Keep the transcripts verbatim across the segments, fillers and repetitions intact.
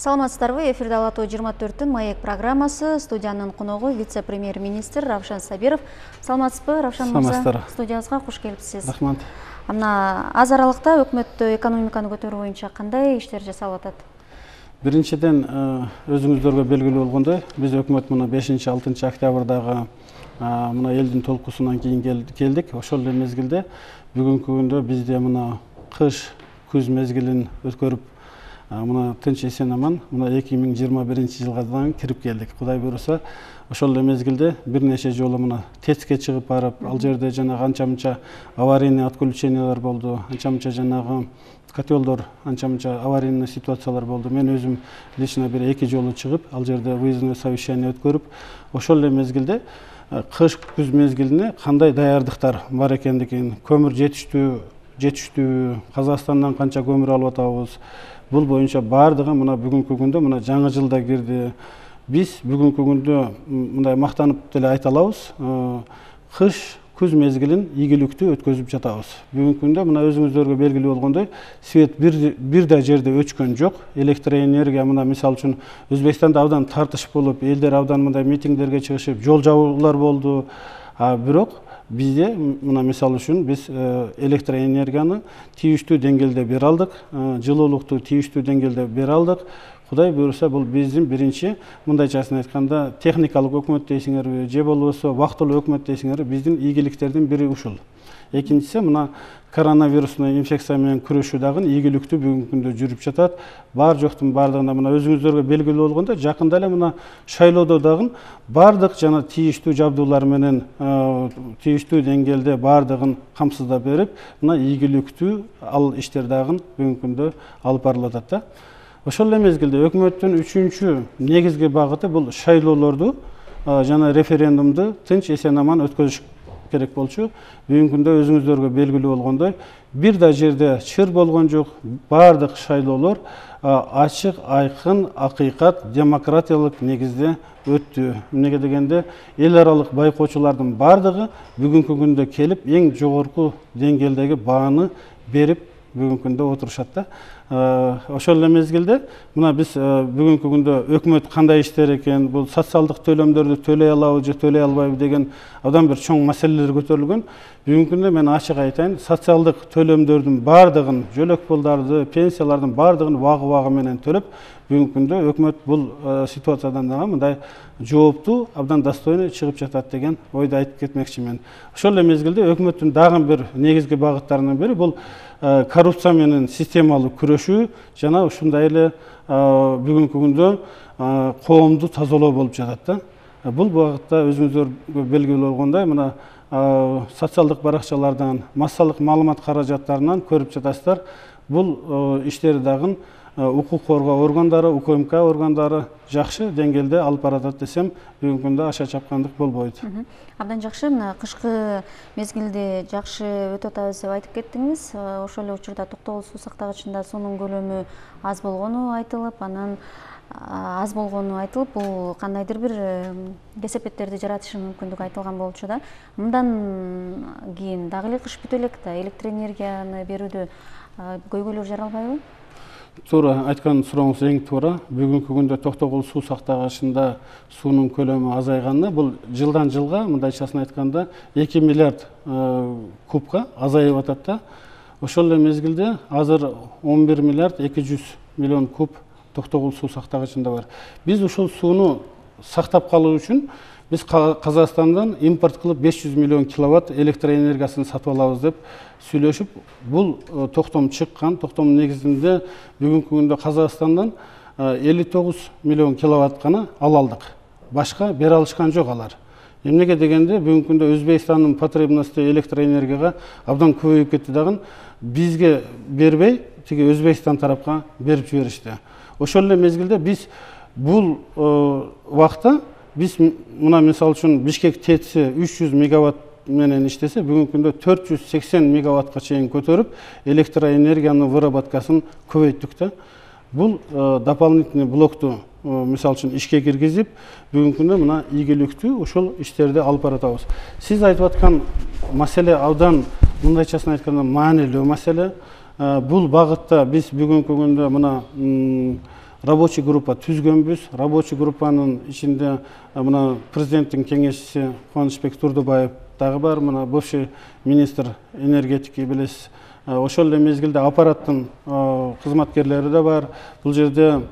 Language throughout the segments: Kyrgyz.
Саламатсыздарбы, эфирде Ала тоо жыйырма төрттүн маек программасы. Студиянын коногу вице-премьер-министр Равшан Сабиров. Саламатсызбы, Равшан мырза? Студиябызга куш келипсиз. Рахмат. Мына аз аралыкта өкмөттө экономиканы көтөрүү боюнча кандай иштер жасалып атат? Биринчиден, өзүңүздөргө белгилүү болгондой, биз өкмөт мына бешинчи алтынчы октябрдагы мына элдин толкусунан кийин келдик. Ошол эле мезгилде бүгүнкү күндө бизде мына кыш, күз мезгилин өткөрүп, мына тынч эсен аман мына эки миң жыйырма биринчи жылга кирип келдик. Кудай буйруса, ошол эле мезгилде бир нече жолу мына ТЭЦке чыгып барып, ал жерде жанагы анча-мынча аварийный отключениялар болду, анча-мынча жанагы котелдор, анча-мынча аварийный ситуациялар болду. Мен өзүм лично бир эки жолу чыгып, ал жерде выездной совещание өткөрүп, ошол эле мезгилде кыш, күз мезгилине кандай даярдыктар бар экендигин, көмүр жетиштүү, жетиштүү, Казакстандан канча көмүр алып атабыз, бул боюнча бардыгы мына бүгүнкү күндө мына жаңы жылда кирди. Биз бүгүнкү күндө мындай мактанып деле айта алабыз, кыш, күз мезгилин ийгиликтүү өткөзүп жатабыз. Бүгүнкү күндө мына өзүңүздөргө белгилүү болгондой, свет бир бир да жерде өчкөн жок. Электроэнергия мына мисалы үчүн Өзбекстанда абдан тартыш болуп, элдер абдан мындай митингдерге чыгышып, жол жабуулар болду. А бирок бизде мына мисалы үчүн биз электроэнергияны тийиштүү деңгээлде бере алдык, жылуулукту тийиштүү деңгээлде бере алдык. Кудай буйруса, бул биздин биринчи, мындайчасын айтканда, техникалык өкмөт дейсиңерби, же болбосо вактылуу өкмөт дейсиңерби, биздин ийгиликтердин бири ушул. Экинчиси, мына коронавирусный инфекция менен күрөшүү дагы ийгиликтүү бүгүнкү күндө жүрүп жатат. Бар жоктун бардыгында мына өзүңүздөргө белгилүү болгондой, жакында эле мына шайлоодо дагы бардык жана тийиштүү жабдуулар менен тийиштүү деңгээлде бардыгын камсыздап берип, мына ийгиликтүү ал иштер дагы бүгүнкү күндө алып барылып атат да. Ошол эле мезгилде өкмөттүн үчүнчү негизги багыты бул шайлоолорду жана референдумду тынч эсен аман өткөзүш керек болчу. Бүгүнкү күндө өзүңүздөргө белгилүү болгондой, бир да жерде чыр болгон жок. Бардык шайлоолор ачык, айкын, акыйкат, демократиялык негизде өттү. Эмнеге дегенде, эл аралык байкоочулардын бардыгы бүгүнкү күндө келип, эң жогорку деңгээлдеги бааны берип бүгүнкү күндө отурушат да. Ошол эле мезгилде мына биз бүгүнкү күндө өкмөт кандай иштер экен, бул социалдык төлөмдөрдү төлөй алабы же төлөй албайбы деген абдан бир чоң маселелер көтөрүлгөн. Бүгүнкү күндө мен ачык айтайын, социалдык төлөмдөрдүн бардыгын, жөлөк пулдарды, пенсиялардын бардыгын вагы-вагы менен төлөп, бүгүнкү күндө өкмөт бул ситуациядан дагы мындай жооптуу, абдан достойный чыгып жатат деген ойду айтып кетмекчимин. Ошол эле мезгилде өкмөттүн дагы бир негизги багыттарынын бири бул коррупция менен системалуу күрөшүү жана ушундай эле бүгүнкү күндө коомду тазалоо болуп жатат да. Бул багытта өзүңүздөргө белгилүү болгондой, мына социалдык баракчалардан, массалык маалымат каражаттарынан көрүп жатасыздар. Бул иштер дагы укук коргоо органдары, УКМК органдары жакшы деңгээлде алып баратат десем, бүгүнкү күндө аша чапкандык болбойт. Абдан жакшы. Мына кышкы мезгилде жакшы өтүп атабыз деп айтып кеттиңиз. Ошол эле учурда Токтогул суу сактагычында суунун көлөмү аз болгону айтылып, анан аз болгону айтылып, бул кандайдыр бир кесепеттерди жаратышы мүмкүндүгү айтылган болчу да. Мындан кийин дагы эле кыш бүтө элек да, электроэнергияны берүүдө көйгөйлөр жаралбайбы? Туура айткан сурооңуз эң туура. Бүгүнкү күндө Токтогул суу сактагычында суунун көлөмү азайганы, бул жылдан жылга мындайчасын айтканда эки миллиард кубка азайып атат да. Ошол эле мезгилде азыр он бир миллиард эки жүз миллион куб Токтогул суу сактагычында бар. Биз ушул сууну сактап калуу үчүн биз Казакстандан импорт кылып беш жүз миллион киловатт электроэнергиясын сатып алабыз деп сүйлөшүп, бул токтом чыккан. Токтомдун негизинде бүгүнкү күндө Казакстандан элүү тогуз миллион киловатт гана ала алдык. Башка бере алышкан жок алар. Эмнеге дегенде, бүгүнкү күндө Өзбекстандын потребности электроэнергияга абдан көбөйүп кетти дагы, бизге бербей, тиги Өзбекстан тарапка берип жиберишти. Ошол эле мезгилде биз бул убакта биз мына мисалы үчүн Бишкек ТЭЦи үч жүз мегаватт менен иштесе, бүгүнкү күндө төрт жүз сексен мегаваттка чейин көтөрүп, электроэнергиянын выработкасын көбөйттүк да. Бул дополнительный блокту мисалы үчүн ишке киргизип, бүгүнкү күндө мына ийгиликтүү ушул иштерди алып баратабыз. Сиз айтып аткан маселе абдан мындайчасын айтканда маанилүү маселе. Бул багытта биз бүгүнкү күндө мына рабочий группа түзгөнбүз. Рабочий группанын ичинде мына президенттин кеңешчиси Кубанычбек Турдубаев дагы бар, мына бывший министр энергетики билесиз. Ошол эле мезгилде аппараттын кызматкерлери да бар. Бул жерде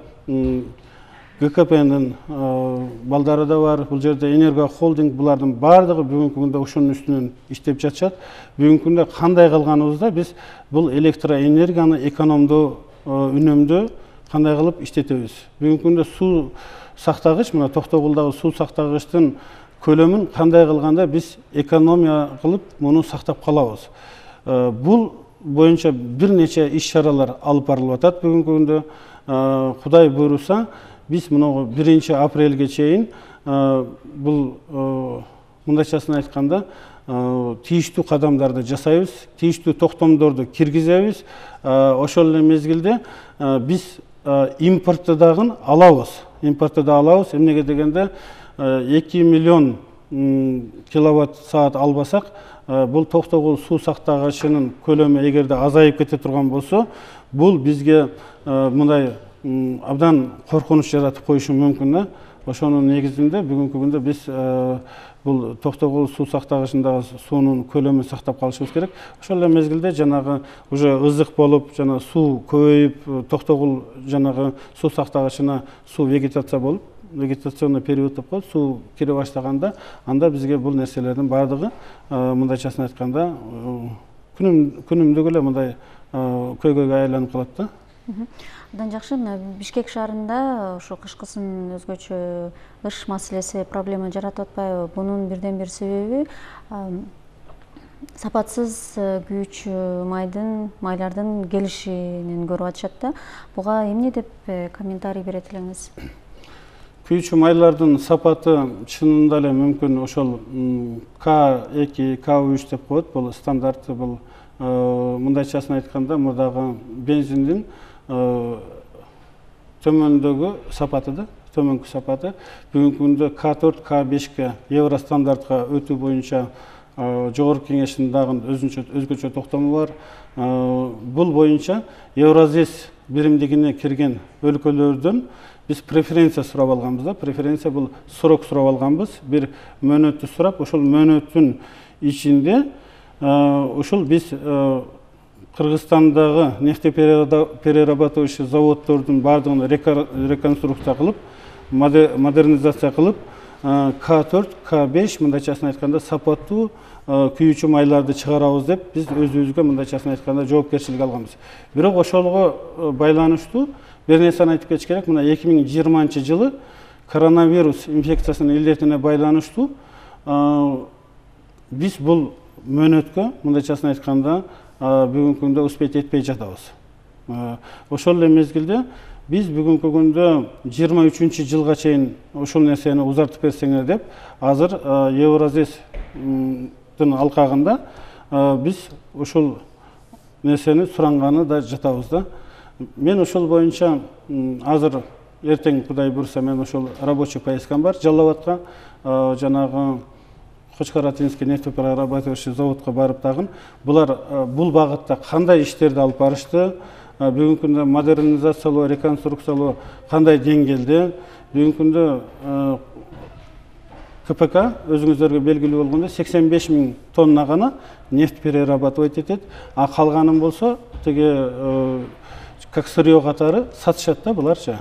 ГКПнын балдары да бар. Бул жерде Энерго холдинг, булардын бардыгы бүгүнкү күндө ушунун үстүнөн иштеп жатышат. Бүгүнкү күндө кандай кылганыбызда биз бул электроэнергияны экономдоо, үнөмдөө кандай кылып иштетебиз. Бүгүнкү күндө суу сактагыч, мына Токтогулдагы суу сактагычтын көлөмүн кандай кылганда биз экономия кылып муну сактап калабыз. Бул боюнча бир нече иш-чаралар алып барылып атат бүгүнкү күндө. Кудай буйруса, биз мына биринчи апрелге чейин бул мындайчасын айтканда тийиштүү кадамдарды жасайбыз, тийиштүү токтомдорду киргизебиз. Ошол эле мезгилде биз импортты дагы алабыз. Импортты да алабыз. Эмнеге дегенде эки миллион киловатт саат албасак, бул Токтогул суу сактагычынын көлөмү эгерде азайып кете турган болсо, бул бизге мындай абдан коркунуч жаратып коюшу мүмкүн да. Ошонун негизинде бүгүнкү күндө биз бул Токтогул суу сактагычындагы суунун көлөмүн сактап калышыбыз керек. Ошол эле мезгилде жанагы уже ызык болуп, жана суу көбөйүп, Токтогул жанагы суу сактагычына суу вегетация болуп, вегетационный период деп коет, суу кире баштаганда, анда бизге бул нерселердин бардыгы мындайчасын айтканда күнүмдүк эле мындай көйгөйгө айланып калат да. Андан жакшы, мына Бишкек шаарында ошо кышкысын өзгөчө ыш маселеси проблема жаратып атпайбы? Бунун бирден бир себеби сапатсыз күйүүчү майдын, майлардын келишинен көрүп атышат да. Буга эмне деп комментарий берет элеңиз? Күйүүчү майлардын сапаты чынында эле мүмкүн ошол К эки, К үч деп коет, бул стандарты, бул мындайчасын айтканда мурдагы бензиндин төмөндөгү сапаты да, төмөнкү сапаты. Бүгүнкү күндө К төрт, К бешке евро стандартка өтүү боюнча жогорку кеңештин дагы өзгөчө токтому бар. Бул боюнча Евразес биримдигине кирген өлкөлөрдөн биз преференция сурап алганбыз да. Преференция бул срок сурап алганбыз. Бир мөөнөттү сурап, ошол мөөнөттүн ичинде ушул биз Кыргызстандагы нефтеперерабатывающий заводдордун бардыгын реконструкция кылып, модернизация кылып, К төрт, К беш мындайчасын айтканда сапаттуу күйүүчү майларды чыгарабыз деп биз өзүбүзгө мындайчасын айтканда жоопкерчилик алганбыз. Бирок ошолго байланыштуу бир нерсени айтып кетиш керек. Мына эки миң жыйырманчы жылы коронавирус инфекциясынын илдетине байланыштуу биз бул мөөнөткө мындайчасын айтканда бүгүнкү күндө успеть этпей жатабыз. Ошол эле мезгилде биз бүгүнкү күндө жыйырма үчүнчү жылга чейин ушул нерсени узартып берсеңер деп, азыр Евразестин алкагында биз ушул нерсени суранганы да жатабыз да. Мен ошол боюнча азыр эртең Кудай буйруса мен ошол рабочий поездкам бар Жалал Абадка, жанагы Кочкаратинский нефтеперерабатывающий заводко барып тагын булар бул багытта кандай иштерди алып барышты, бүгүнкү күндө модернизациялоо, реконструкциялоо кандай деңгээлде, бүгүнкү күндө КПК өзүңүздөргө белгилүү болгондой сексен беш миң тонна гана нефть перерабатывать этет, а калганын болсо тиги как сырье катары сатышат да буларчы.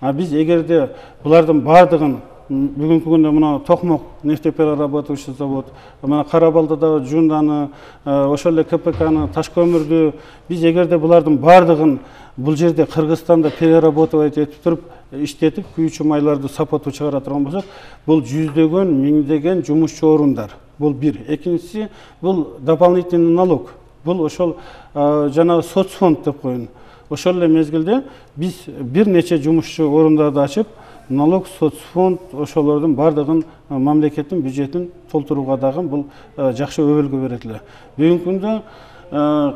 А биз эгерде булардын бардыгын бүгүнкү күндө мына Токмок нефтеперерабатывающий завод, мына Карабалдадагы Жунданы, ошол эле КПКны, Ташкөмүрдү биз эгерде булардын бардыгын бул жерде Кыргызстанда переработать этип туруп, иштетип, күйүүчү майларды сапаттуу чыгара турган болсок, бул жүздөгөн, миңдеген жумушчу орундар. Бул бир. Экинчиси, бул дополнительный налог. Бул ошол жанагы соцфонд деп коюн. Ошол эле мезгилде биз бир нече жумушчу орундарды ачып, налог, соцфонд ошолордун бардыгын мамлекеттин бюджетин толтурууга дагы бул жакшы өбөлгө берет эле. Бүгүнкү күндө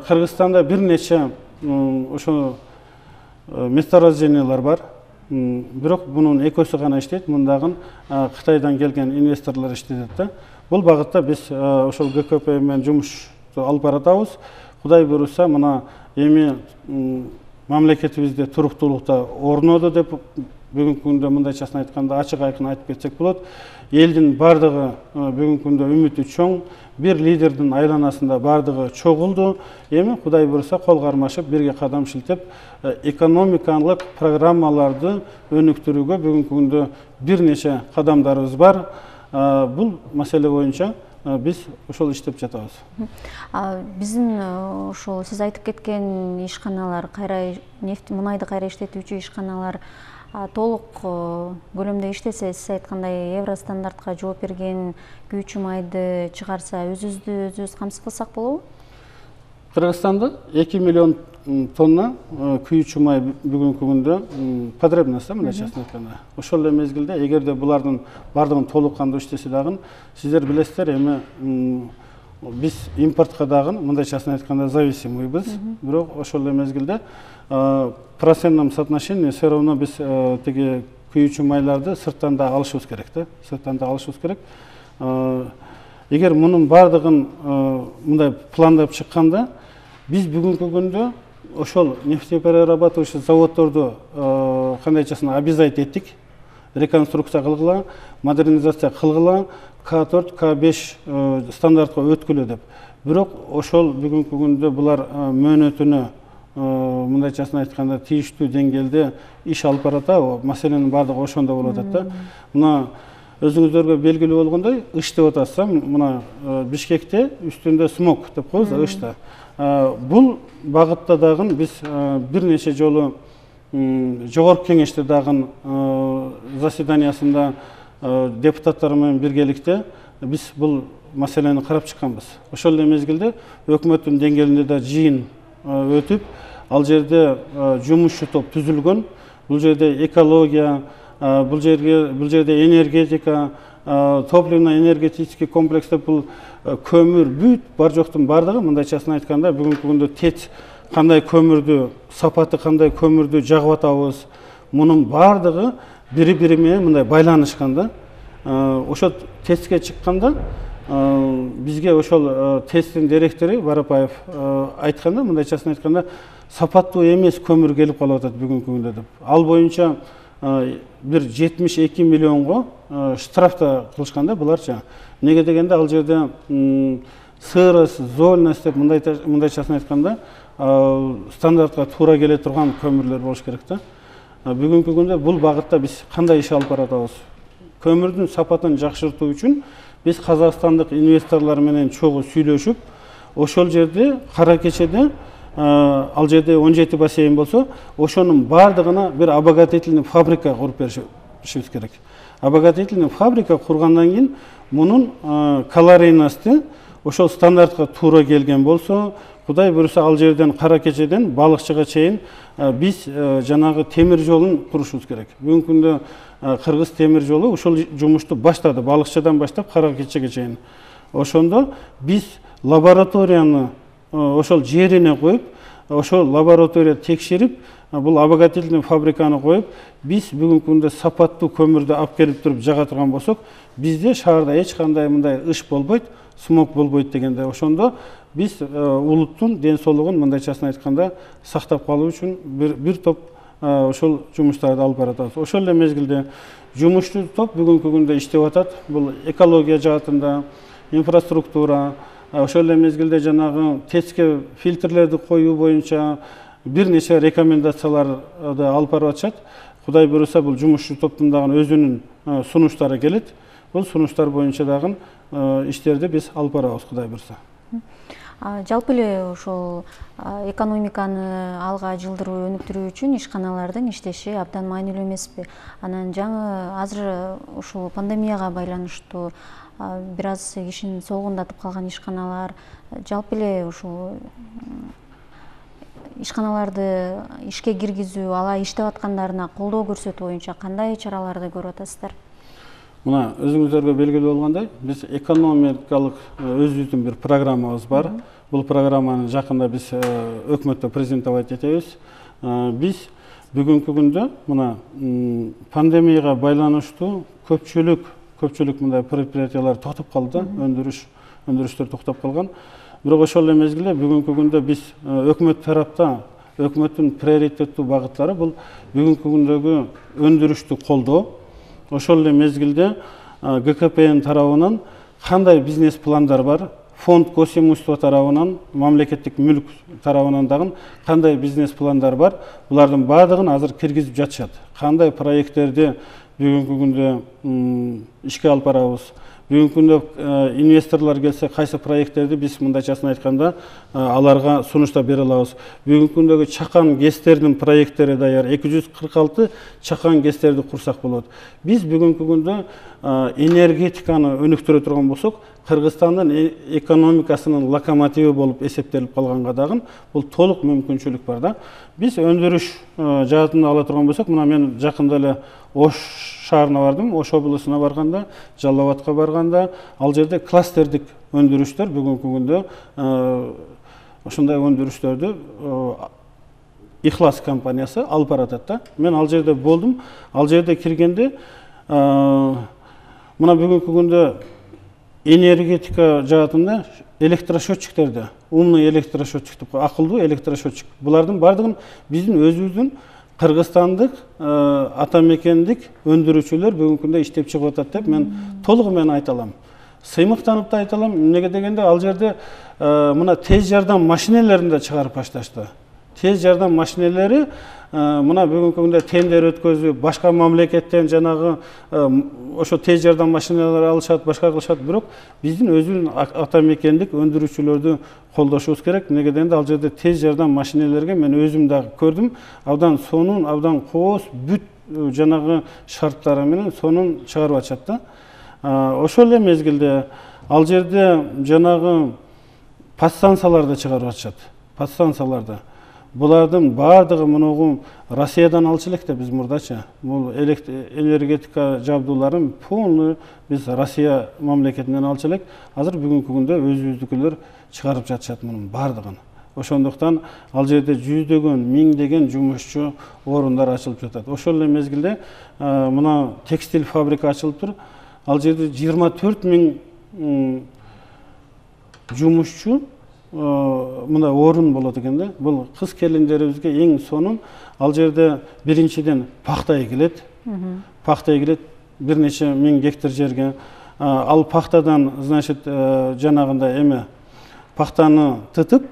Кыргызстанда бир нече ошо месторождениялар бар. Бирок мунун экөөсү гана иштейт, мындагы Кытайдан келген инвесторлор иштетет да. Бул багытта биз ошол ГКП менен жумуш алып баратабыз. Кудай буйруса, мына эми мамлекетибизде туруктуулукта орноду деп бүгүнкү күндө мындайчасын айтканда ачык айкын айтып кетсек болот. Элдин бардыгы бүгүнкү күндө үмүтү чоң, бир лидердин айланасында бардыгы чогулду. Эми Кудай буйруса кол кармашып бирге кадам шилтеп экономикалык программаларды өнүктүрүүгө бүгүнкү күндө бир нече кадамдарыбыз бар. Бул маселе боюнча биз ошол иштеп жатабыз. Биздин ошол сиз айтып кеткен ишканалар, кайра нефть мунайды кайра иштетүүчү ишканалар толук көлөмдө иштесе, сиз айткандай евро стандартка жооп берген күйүүчү майды чыгарса, өзүбүздү өзүбүз камсыз кылсак болобу? Кыргызстанда эки миллион тонна күйүүчү май бүгүнкү күндө потребность, мындайчасын айтканда. Ошол эле мезгилде эгерде булардын бардыгын толук кандуу иштесе дагы, сиздер билесиздер, эми биз импортко дагы мындайчасын айтканда зависимыйбыз. Бирок ошол эле мезгилде процентном соотношении все равно биз тиги күйүүчү майларды сырттан да алышыбыз керек да, сырттан да алышыбыз керек. Эгер мунун бардыгын мындай пландап чыкканда, биз бүгүнкү күндө ошол нефтеперерабатывающий заводдорду кандайчасын обязать эттик, реконструкция кылгыла, модернизация кылгыла, К төрт, К беш стандартка өткүлө деп. Бирок ошол бүгүнкү күндө булар мөөнөтүнө мындайчасын айтканда тийиштүү деңгээлде иш алып барат. Маселенин бардыгы ошондо болуп атат да. Мына өзүңүздөргө белгилүү болгондой, ыш деп атасыз, мына Бишкекте үстүндө смог деп коебуз, ышта. Бул багытта дагы биз бир нече жолу жогорку кеңеште дагы заседаниясында депутаттар менен биргеликте биз бул маселени карап чыкканбыз. Ошол эле мезгилде өкмөттүн деңгээлинде да жыйын өтүп, ал жерде жумушчу топ түзүлгөн. Бул жерде экология, бул жерге бул жерде энергетика, топливно-энергетический комплекс деп бул көмүр, бүт бар жоктун бардыгы мындайчасын айтканда бүгүнкү күндө ТЭЦ кандай көмүрдү, сапаты кандай көмүрдү жагып атабыз. Мунун бардыгы бири-бири менен мындай байланышкан да. Ошо ТЭЦке чыкканда бизге ошол ТЭЦтин директору Барапаев айтканда, мындайчасын айтканда, сапаттуу эмес көмүр келип калып атат бүгүнкү күндө деп. Ал боюнча бир жетимиш эки миллионго штрафта кылышкан да буларча. Неге дегенде ал жерде сырость, зольность деп мындайчасын айтканда стандартка туура келе турган көмүрлөр болуш керек да. Бүгүнкү күндө бул багытта биз кандай иш алып баратабыз? Көмүрдүн сапатын жакшыртуу үчүн биз казакстандык инвесторлор менен чогуу сүйлөшүп, ошол жерде Кара Кечеде ал жерде он жети бассейн болсо, ошонун бардыгына бир обогатительный фабрика куруп беришибиз керек. Обогатительный фабрика кургандан кийин мунун калорийности ошол стандартка туура келген болсо, Кудай буйруса ал жерден Кара Кечеден балыкчыга чейин биз жанагы темир жолун курушубуз керек. Бүгүнкү күндө Кыргыз темир жолу ушул жумушту баштады, балыкчыдан баштап Кара Кечеге чейин. Ошондо биз лабораторияны ошол жерине коюп, ошол лаборатория текшерип, бул обогатительный фабриканы коюп, биз бүгүнкү күндө сапаттуу көмүрдү алып келип туруп жага турган болсок, бизде шаарда эч кандай мындай ыш болбойт, смог болбойт дегенде. Ошондо биз улуттун ден соолугун мындайчасын айтканда сактап калуу үчүн бир бир топ ошол жумуштарды алып баратабыз. Ошол эле мезгилде жумушчу топ бүгүнкү күндө иштеп атат. Бул экология жаатында, инфраструктура, ошол эле мезгилде жанагы ТЭЦке фильтрлерди коюу боюнча бир нече рекомендацияларды алып барып атышат. Кудай буйруса бул жумушчу топтун дагы өзүнүн сунуштары келет. Бул сунуштар боюнча дагы иштерди биз алып барабыз, Кудай буйруса. Жалпы эле ошол экономиканы алга жылдыруу, өнүктүрүү үчүн ишканалардын иштеши абдан маанилүү эмеспи? Анан жаңы азыр ушул пандемияга байланыштуу бир аз кишини солгундатып калган ишканалар, жалпы эле ушул ишканаларды ишке киргизүү, алар иштеп аткандарына колдоо көрсөтүү боюнча кандай чараларды көрүп атасыздар? Мына өзүңүздөргө белгилүү болгондой, биз экономикалык өзүбүздүн бир программабыз бар. Бул программаны жакында биз өкмөттө презентовать этебиз. Биз бүгүнкү күндө мына пандемияга байланыштуу көпчүлүк көпчүлүк мындай предприятиялар токтоп калды, өндүрүш өндүрүштөр токтоп калган. Бирок ошол эле мезгилде бүгүнкү күндө биз өкмөт тарапта өкмөттүн приоритеттүү багыттары бул бүгүнкү күндөгү өндүрүштү колдоо. Ошол эле мезгилде Г К П Н тарабынан кандай бизнес пландар бар, фонд госимущество тарабынан, мамлекеттик мүлк тарабынан дагы кандай бизнес пландар бар, булардын баардыгын азыр киргизип жатышат. Кандай проекттерди бүгүнкү күндө ишке алып барабыз, бүгүнкү күндө инвесторлор келсе кайсы проекттерди биз мындайчасын айтканда аларга сунуштап бере алабыз. Бүгүнкү күндөгү чакан ГЭСтердин проекттери даяр, эки жүз кырк алты чакан ГЭСтерди курсак болот. Биз бүгүнкү күндө энергетиканы өнүктүрө турган болсок, Кыргызстандын экономикасынын локомотиви болуп эсептелип калганга дагы бул толук мүмкүнчүлүк бар да. Биз өндүрүш жаатында ала турган болсок, мына мен жакында эле Ош шаарына бардым, Ош облусуна барганда, Жалал Абадка барганда, ал жерде кластердик өндүрүштөр бүгүнкү күндө ошондой өндүрүштөрдү Ихлас компаниясы алып баратат да. Мен ал жерде болдум. Ал жерде киргенде мына бүгүнкү күндө энергетика жаатында электрошотчиктерди, умный электрошотчик, акылдуу электрошотчик, булардын бардыгын биздин өзүбүздүн кыргызстандык атамекендик өндүрүүчүлөр бүгүнкү күндө иштеп чыгып атат деп мен толугу менен айта алам. Сыймыктанып да айта алам. Эмнеге дегенде ал жерде мына тез жардам машинелерин да чыгарып башташты. Тез жардам машинелери мына бүгүнкү күндө тендер өткөзүп, башка мамлекеттен жанагы ошо тез жардам машиналары алышат, башка кылышат, бирок биздин өзүбүздүн атамекендик өндүрүүчүлөрдү колдошубуз керек. Эмнеге дегенде ал жерде тез жардам машинелерге мен өзүм дагы көрдүм. Абдан сонун, абдан кооз, бүт жанагы шарттары менен сонун чыгарып атышат да. Ошол эле мезгилде ал жерде жанагы подстанцияларды чыгарып атышат. Подстанцияларды. Булардын баардыгы мунугу Россиядан алчу элек да биз мурдачы. Бул энергетика жабдууларын полный биз Россия мамлекетинен алчу элек. Азыр бүгүнкү күндө өзүбүздүкүлөр чыгарып жатышат мунун баардыгын. Ошондуктан ал жерде жүздөгөн, миңдеген жумушчу орундар ачылып жатат. Ошол эле мезгилде мына текстиль фабрика ачылып тур. Ал жерде жыйырма төрт миң жумушчу мына орун болот экен да. Бул кыз келиндерибизге эң сонун. Ал жерде биринчиден пахта эгилет. Пахта эгилет бир нече миң гектар жерге. Ал пахтадан, значит, жанагында эме пахтаны тытып,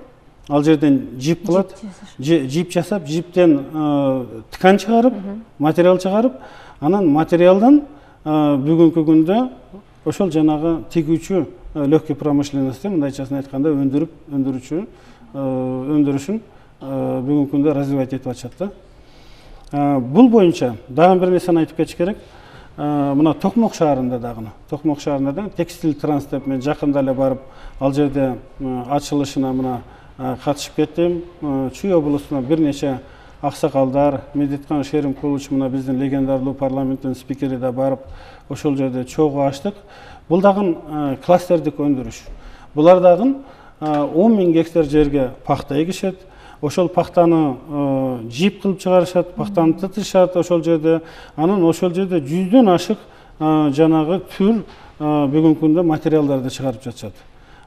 ал жерден жип кылат. Жип жасап, жиптен ткань чыгарып, материал чыгарып, анан материалдан бүгүнкү күндө ошол жанагы тигүүчү легкий промышленности мындайчасын айтканда өндүрүп өндүрүүчү өндүрүшүн бүгүнкү күндө развивать этип атышат да. Бул боюнча дагы бир нерсени айтып кетиш керек. Мына Токмок шаарында дагы, Токмок шаарында да текстиль транс деп мен жакында эле барып, ал жерде ачылышына мына катышып кеттим. Чүй облусуна бир нече аксакалдар, Медеткан Шеримкулович мына биздин легендарлуу парламенттин спикери да барып, ошол жерде чогуу ачтык. Бул дагы кластердик өндүрүш. Булар дагы он миң гектар жерге пахта эгишет. Ошол пахтаны жип кылып чыгарышат, пахтаны тытышат ошол жерде. Анан ошол жерде жүздөн ашык жанагы түр бүгүнкү күндө материалдарды чыгарып жатышат.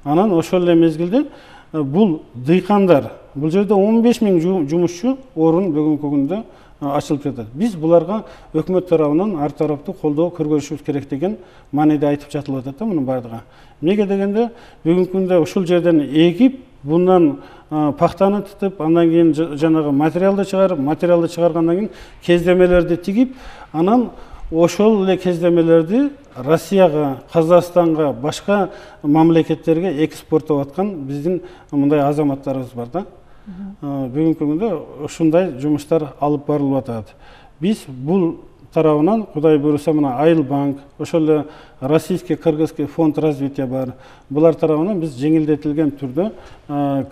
Анан ошол эле мезгилде бул дыйкандар, бул жерде он беш миң жумушчу орун бүгүнкү күндө ачылып жатат. Биз буларга өкмөт тарабынан ар тараптуу колдоо көргөзүшүбүз керек деген мааниде айтып жатылып атат да мунун бардыгы. Эмнеге дегенде бүгүнкү күндө ушул жерден эгип, bundan paxtani tutib, andan keyin janağı materialды чыгарып, материалды чыгаргандан кийин кездемелерди тигип, анан ошол эле кездемелерди Россияга, Казакстанга, башка мамлекеттерге экспорттоп аткан биздин мындай азаматтарыбыз бар да. Бүгүнкү күндө ушундай жумуштар алып барылып атат. Биз бул тарабынан Кудай буйруса мына Айылбанк, ошол эле Российский Кыргызский фонд развития бар. Булар тарабынан биз жеңилдетилген түрдө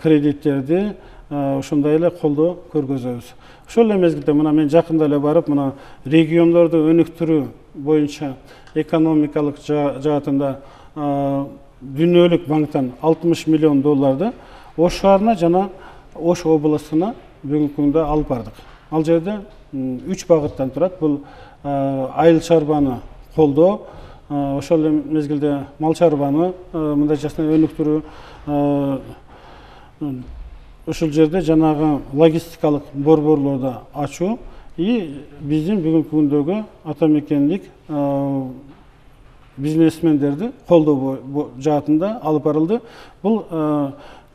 кредиттерди ошондой эле колдоо көргөзөбүз. Ошол эле мезгилде мына мен жакында эле барып, мына региондорду өнүктүрүү боюнча экономикалык жаатында Дүйнөлүк банктан алтымыш миллион долларды Ош шаарына жана Ош облусуна бүгүнкү күндө алып бардык. Ал жерде үч багыттан турат. Бул айыл чарбаны колдоо, ошол эле мезгилде мал чарбаны мындайчасына өнүктүрүү, ушул жерде жанагы логистикалык борборлорду ачуу и биздин бүгүнкү күндөгү ата мекендик бизнесмендерди колдоо жаатында алып барылды. Бул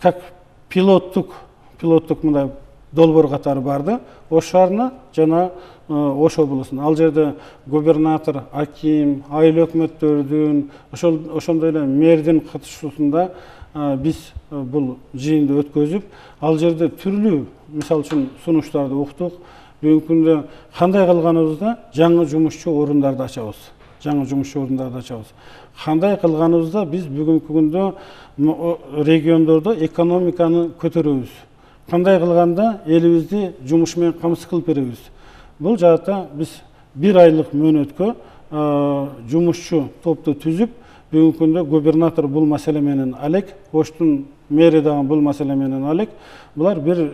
как пилоттук пилоттук мындай долбоор катары барды. Ош шаарына жана Ош облусуна. Ал жерде губернатор, аким, айыл өкмөттөрдүн, ошол ошондой эле мэрдин катышуусунда биз бул жыйынды өткөзүп, ал жерде түрлүү, мисалы үчүн сунуштарды уктук. Бүгүнкү күндө кандай кылганыбызда жаңы жумушчу орундарды ачабыз. Жаңы жумушчу орундарды ачабыз. Кандай кылганыбызда биз бүгүнкү күндө региондордо экономиканы көтөрөбүз. Кандай кылганда элибизди жумуш менен камсыз кылып беребиз. Бул жаатта биз бир айлык мөөнөткө жумушчу топту түзүп, бүгүнкү күндө губернатор бул маселе менен алек, Оштун мэри дагы бул маселе менен алек. Булар бир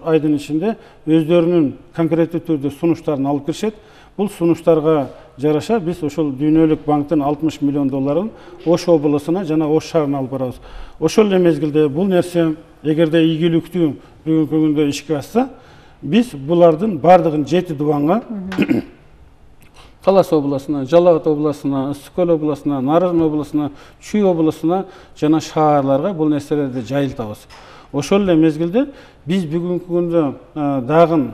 айдын ичинде өздөрүнүн конкреттүү түрдө сунуштарын алып киришет. Бул сунуштарга жараша биз ошол Дүйнөлүк банктын алтымыш миллион долларын Ош облусуна жана Ош шаарына алып барабыз. Ошол эле мезгилде бул нерсе эгерде ийгиликтүү бүгүнкү күндө ишке ашса, биз булардын бардыгын жети дубанга Талас облусуна, Жалал Абад облусуна, Ысык Көл облусуна, Нарын облусуна, Чүй облусуна жана шаарларга бул нерселерди жайылтабыз. Ошол эле мезгилде биз бүгүнкү күндө дагы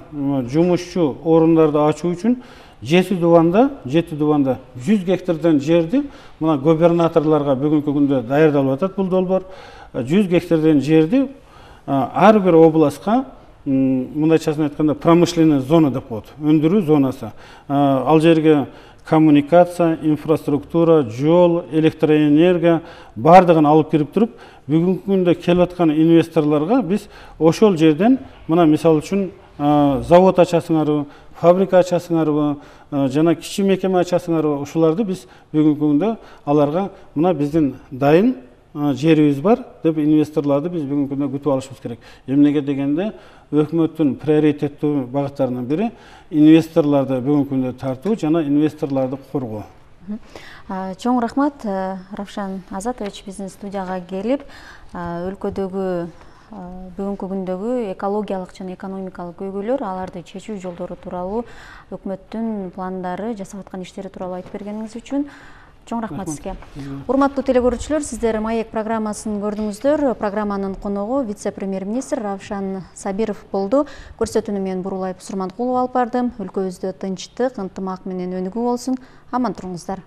жумушчу орундарды ачуу үчүн жети дубанда, жети дубанда жүз гектардан жерди мына губернаторлорго бүгүнкү күндө даярдалып атат бул долбоор. жүз гектардан жерди ар бир областка, мындайчасын айтканда, промышленный зона деп коет, өндүрүү зонасы. Ал жерге коммуникация, инфраструктура, жол, электроэнергия бардыгын алып кирип туруп, бүгүнкү күндө келип аткан инвесторлорго биз ошол жерден мына мисалы үчүн завод ачасыңарбы, фабрика ачасыңарбы, жана кичи мекеме ачасыңарбы, ушуларды биз бүгүнкү күндө аларга мына биздин дайын жерибиз бар деп инвесторлорду биз бүгүнкү күндө күтүп алышыбыз керек. Эмнеге дегенде өкмөттүн приоритеттүү багыттарынын бири инвесторлорду бүгүнкү күндө тартуу жана инвесторлорду коргоо. Чоң рахмат, Равшан Азатович биздин студияга келип, өлкөдөгү бүгүнкү күндөгү экологиялык жана экономикалык көйгөйлөр, аларды чечүү жолдору тууралуу, өкмөттүн пландары, жасап аткан иштери тууралуу айтып бергениңиз үчүн чоң рахмат сизге. Урматтуу теле-көрүүчүлөр, сиздер Маек программасын көрдүңүздөр. Программанын коногу вице-премьер-министр Равшан Сабиров болду. Көрсөтүүнү мен Бурулай Сурманкулова алып бардым. Өлкөбүздө тынчтык, ынтымак менен өнүгүү болсун. Аман туруңуздар.